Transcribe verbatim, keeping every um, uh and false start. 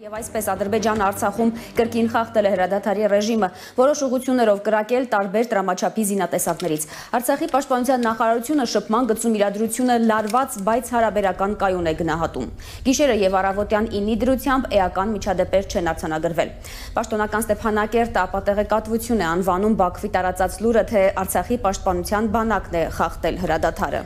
Եվ այսպես Ադրբեջանը Արցախում կրկին խախտել է հրադադարի ռեժիմը, որոշ ուղղություններով կրակել տարբեր դրամաչափի զինատեսակներից։ Արցախի պաշտպանության նախարարությունը շփման գծում իրադրությունը լարված, բայց հարաբերական կայուն է գնահատում։ Գիշերը եւ առավոտյան ինի դրությամբ էական միջադեպեր չեն արձանագրվել։ Պաշտոնական Ստեփանակերտը ապատեղեկատվություն է անվանում Բաքվի տարածած լուրը, թե Արցախի պաշտպանության բանակն է խախտել հրադադարը։